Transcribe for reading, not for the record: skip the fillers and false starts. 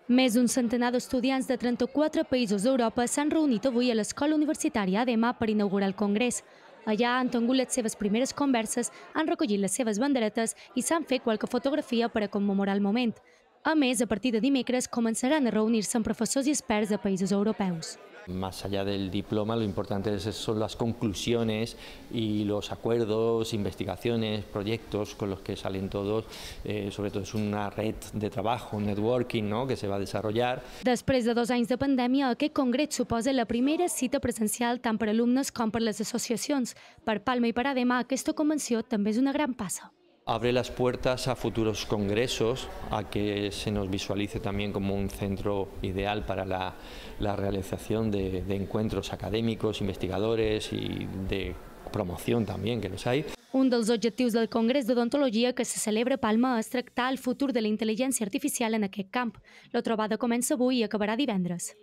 Més d'un centenar d'estudiants de 34 països d'Europa s'han reunit avui a l'Escola Universitària ADEMA per inaugurar el Congrés. Allà han tingut les seves primeres converses, han recollit les seves banderetes i s'han fet qualque fotografia per a commemorar el moment. A més, a partir de dimecres començaran a reunir-se amb professors i experts de països europeus. Más allá del diploma, lo importante son las conclusiones y los acuerdos, investigaciones, proyectos con los que salen todos. Sobre todo es una red de trabajo, un networking, ¿no?, que se va a desarrollar. Després de 2 anys de pandèmia, aquest congrés suposa la primera cita presencial tant per alumnes com per les associacions. Per Palma i per ADEMA, aquesta convenció també és una gran passa. Abre las puertas a futuros congresos, a que se nos visualice también como un centro ideal para la realización de encuentros académicos, investigadores y de promoción también, que los hay. Un dels objectius del Congrés d'Odontologia que se celebra a Palma és tractar el futur de la intel·ligència artificial en aquest camp. La trobada comença avui i acabarà divendres.